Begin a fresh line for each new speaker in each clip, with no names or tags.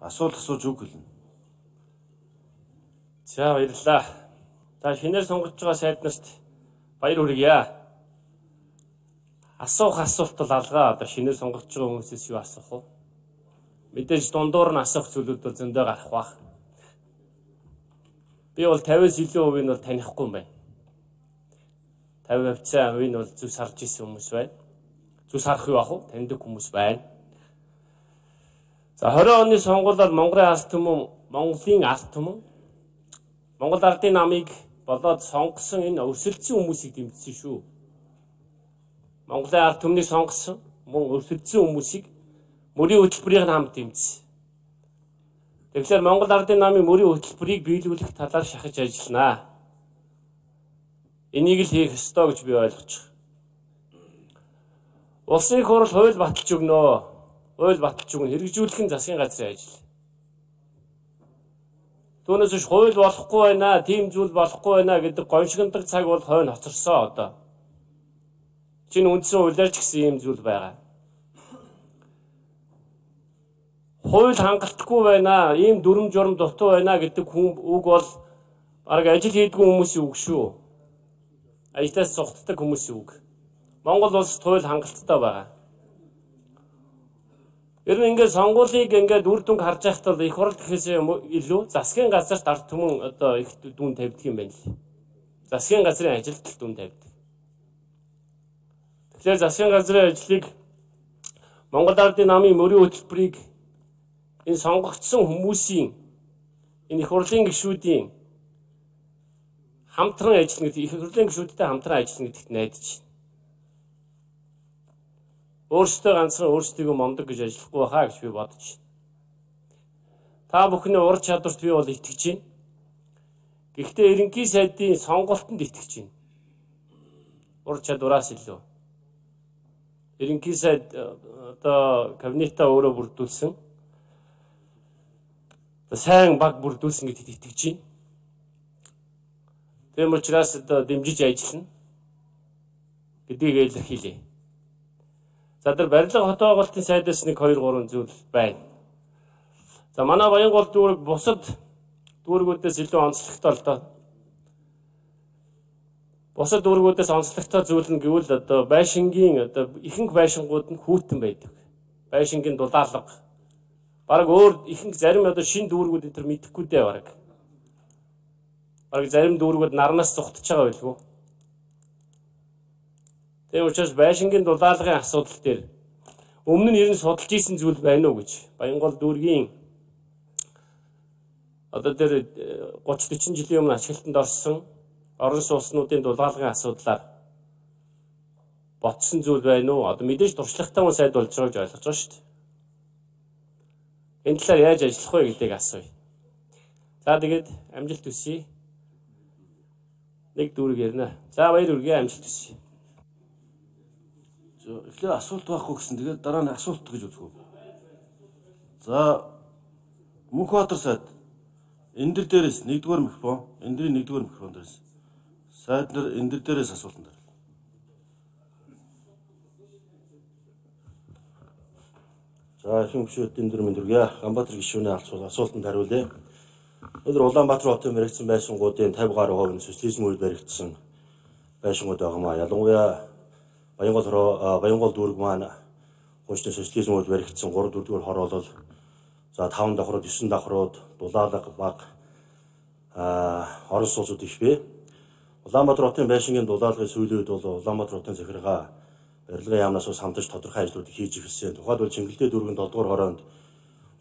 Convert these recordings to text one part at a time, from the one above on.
асуулт асууж үг хэлнэ.
За баярлалаа. Та шинээр сонгож байгаа сайд нарт баяр хүргье. Асуух асуулт бол алгаа. Одоо шинээр сонгож байгаа хүмүүсээс юу асуух вэ? Мэдээж дундуур нь асуух зүйлүүд бол зөндөө гарах бах. Би бол 50-аас илүү хувийг бол танихгүй юм байна. 50% хувийг бол зүс харж исэн хүмүүс байна. Зүс харах юу ах вэ? Таньдаг хүмүүс байна. За 20 оны сонгуулиар Монголын ард түмэн, Монголын ард түмэн Монгол ардын намыг болоод сонгосон энэ өрсөлдсөн хүмүүсийг дэмжсэн шүү. Монголын ард түмнийг сонгосон мөн өрсөлдсөн хүмүүсийг мөрийн хөтөлбөрийн хамт дэмжсэн. Тэгэхээр Монгол ардын намын мөрийн хөтөлбөрийг биелүүлэх талаар шахаж ажилланаа. Энийг л хийх ёстой гэж би ойлгож байна. Улсын их хурл хууль баталж өгнө. Хууль баталж өгнө. Хэрэгжүүлэх нь засгийн газрын ажил. Түүнээс биш хууль болохгүй байна, тийм зүйл болохгүй байна гэдэг гоншигндаг цаг бол хойно хоцорсон одоо. Чинь үндсэн хуулиар ч гэсэн ийм зүйл байгаа. Хууль хангалтгүй байна, ийм дүрм журм дутуу байна гэдэг үг бол бараг ажил хийдэггүй хүмүүсийн үг шүү. Ажилтаас цугтдаг хүмүүсийн үг. Монгол улсад хууль хангалттай байгаа. Ер нь ингээд сонгуулийг ингээд үр дүнг харж байхад бол их хурл гэхээс илүү засгийн газарт ард түмэн одоо их дүн тавьдаг юм байна л. Засгийн газрын ажилд дүн тавьдаг. Тэгэхээр засгийн газрын ажлыг Монгол ардын намын мөрийн хөтөлбөрийг энэ сонгогдсон хүмүүсийн энэ их хурлын гишүүдийн хамтран ажиллана гэдэг, их хурлын гишүүдтэй хамтран ажиллана гэдэгт найдаж байна. Өөрсдөө ганцхан өөрсдийгөө момдог гэж ажиллахгүй байхаа гэж би бодож байна. Та бүхний ур чадварт би бол итгэж байна. Гэхдээ ерөнхий сайдын сонголтонд итгэж байна. Ур чадвараас илүү. Ерөнхий сайд одоо кабинетаа өөрөө бүрдүүлсэн. Сайн баг бүрдүүлсэн гэдэгт итгэж байна. Тийм учраас одоо дэмжиж ажиллана гэдгийг илэрхийлье. За тэр барилга хот байгуулалтын сайдаас 1 2 3 зүйл байна. За манай Баянгол дүүрэг бусад дүүргүүдээс илүү онцлогтой л доо. Бусад дүүргүүдээс онцлогтой зүйл нь гэвэл одоо байшингийн одоо ихэнх байшингууд нь хүүтэн байдаг. Байшингийн дулаалга. Бараг өөр ихэнх зарим одоо шинэ дүүргүүд энэ төр мэдэхгүй дээ бараг. Бараг зарим дүүргүүд нарнаас зүхтэж байгаа байлгүй. Тийм учраас байшингийн дулаалгын асуудал дээр өмнө нь ер нь судалж исэн зүйл байна уу гэж Баянгол дүүргийн одоо тэр 30-40 жилийн өмнө ашиглалтанд орсон орон сууцнуудын дулаалгын асуудлаар ботсон зүйл байна уу? Одоо мэдээж туршлагатай хүн сайд болж байгааг ойлгож байгаа шүү дээ. Энэ талаар яаж ажиллах вэ гэдгийг асууя. За тэгээд амжилт хүсье. Нэг дүүрэг ярина. За баяр хүргэе, амжилт хүсье.
Эхлээд асуулт байхгүй гэсэн. Тэгээд дараа нь асуулт гэж үзэх үү. За Мөнхбаатар сайд энэ дээрээс 1-р микрофон, энэ дэрийн 1-р микрофон дээрээс сайд нар энэ дээрээс асуулт нар. За их хэмжээтэй энэ дөрмийн дүргээ Ганбаатар гишүүний асуултанд хариулъя. Өнөөдөр Улаанбаатар хотын мэрэгдсэн байшингуудын 50 гаруй хувь нь социализм үед баригдсан байшингууд байгаамаа. Ялангуяа Баянгол дүүрэг маань хуучны социализм үед баригдсан 3-4 хор бол за 5 давхрууд, 9 давхрууд, дулаалга баг орон сууцуд их бий. Улаанбаатар хотын байшингийн дулаалгын сүүлийн үед бол Улаанбаатар хотын захиргаа барилгын яамнаас ус хамтарч тодорхой ажлуудыг хийж ирсэн. Тухайлбал Чингэлтэй дүүргийн 7-р хороонд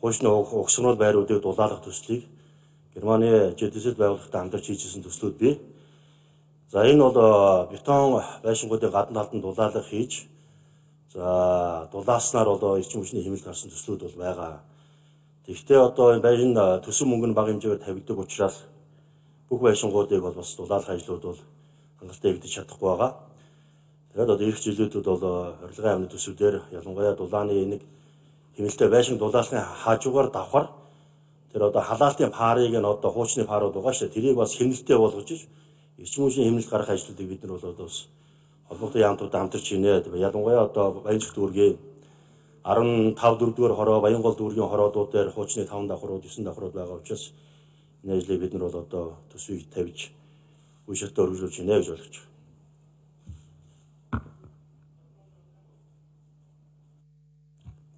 хуучны угсрал байруудыг дулаалгах төслийг Германы ЖДС байгууллагатай хамтарч хийжсэн төслүүд бий. За энэ бол бетон байшингуудын гадна талд нь дулаалга хийж за дулааснаар одоо эрчим хүчний хэмнэлт гарсан төслүүд бол байгаа. Тэгвэл одоо энэ байшин төсөв мөнгө нь бага хэмжээгээр тавигддаг учраас бүх байшингуудыг бол бас дулаалгах ажлууд бол хангалттай хийгдэж чадахгүй байгаа. Тэгээд одоо ирэх жилүүдэд бол орилгын амны төсвүүдээр ялангуяа дулааны нэг хэмнэлттэй байшин дулаалгын хажуугаар давхар тэр одоо халаалтын парыг нь одоо хуучны парууд байгаа шүү дээ. Тэрийг бас хэмнэлттэй болгож эрчим хүчний хэмнэлт гаргах ажлуудыг бид нар бол одоо холбоотой яамтуудад хамтарч хийнэ. Ялангуяа одоо Баянчиг дүүргийн 15 дөрөвдүгээр хороо Баянгол дүүргийн хороодууд дээр хуучны 5 давхрууд 9 давхрууд байгаа учраас энэ ажлыг бид нар бол одоо төсвийг тавьж үе шатаа өргөжүүлж байна гэж ойлгож байна.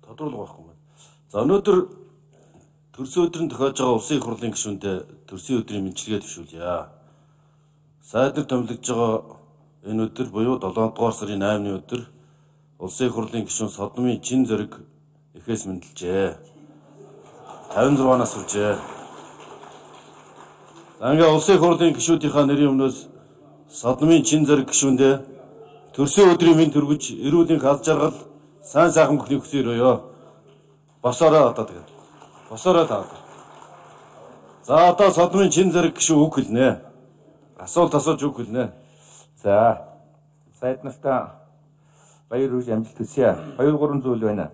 Тодруулах байхгүй байна. За өнөөдөр төрсөн өдрийн тохиож байгаа улсын их хурлын гишүүндээ төрсөн өдрийн мэндчилгээ төвшүүлье. Сайдар томилогдож байгаа энэ өдөр буюу 7 дугаар сарын 8-ны өдөр улсын их хурлын гишүүн Содомын чин зэрэг эхээс мэндэлжээ. 56-наас хүржээ. За ингээ улсын их хурлын гишүүдийнхаа нэрийн өмнөөс Содомын чин зэрэг гишүүндээ төрсөн өдрийн мэнд хүргэж эрүүлэнх алж жаргал сайн сайхан бүхний хүсье өрөөё. Босоороо одоо тэгээд. Босоороо таа. За одоо Содомын чин зэрэг гишүүн үг хэлнэ. Асуулт асууж үг хэлнэ.
За сайд нартаа баяр хүргэж амжилт хүсье. 2 3 зүйл байна.